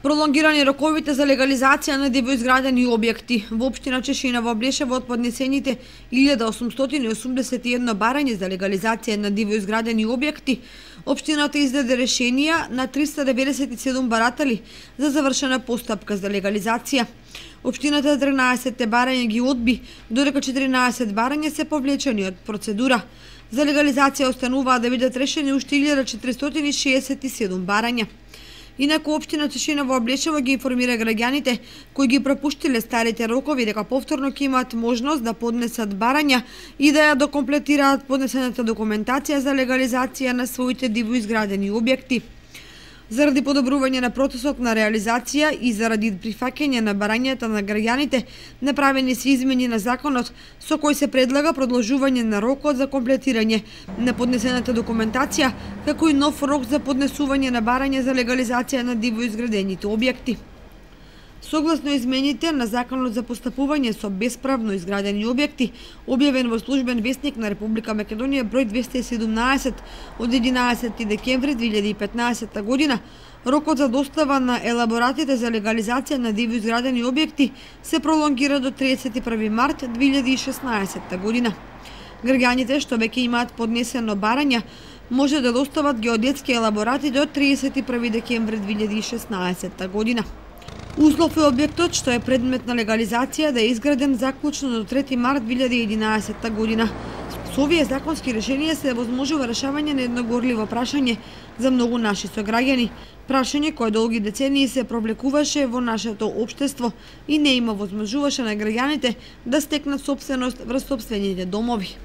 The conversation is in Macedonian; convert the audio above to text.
Пролонгирани роковите за легализација на дивоизградени објекти. Во општина Чешина во Блешево од поднесените 1881 барања за легализација на дивоизградени објекти, општината издаде решенија на 397 баратели за завршена постапка за легализација. Општината 13 барања ги одби, додека 14 барања се повлечени од процедура. За легализација остануваат да бидат решени уште 1467 барања. Инаку општина Чешина во Блешево ги информира граѓаните кои ги пропуштиле старите рокови дека повторно ќе имаат можност да поднесат барања и да ја докомплетираат поднесената документација за легализација на своите дивоизградени објекти. Заради подобрување на процесот на реализација и заради прифаќање на барањата на граѓаните, направени се измени на законот со кој се предлага продолжување на рокот за комплетирање на поднесената документација, како и нов рок за поднесување на барања за легализација на дивоизградените објекти. Согласно измените на Законот за постапување со бесправно изградени објекти, објавен во Службен весник на Република Македонија број 217 од 11 декември 2015 година, рокот за достава на елаборатите за легализација на дивоизградени објекти се пролонгира до 31 март 2016 година. Граѓаните што веќе имаат поднесено барања може да достават геодетски елаборати до 31 декември 2016 година. Услов е објектот што е предмет на легализација да е изграден заклучно до 3 март 2011 година. Со овие законски решенија се возможува решавање на едно горливо прашање за многу наши сограѓани. Прашање кое долги децении се провлекуваше во нашето општество и не има возможуваше на граѓаните да стекнат сопственост врз сопствените домови.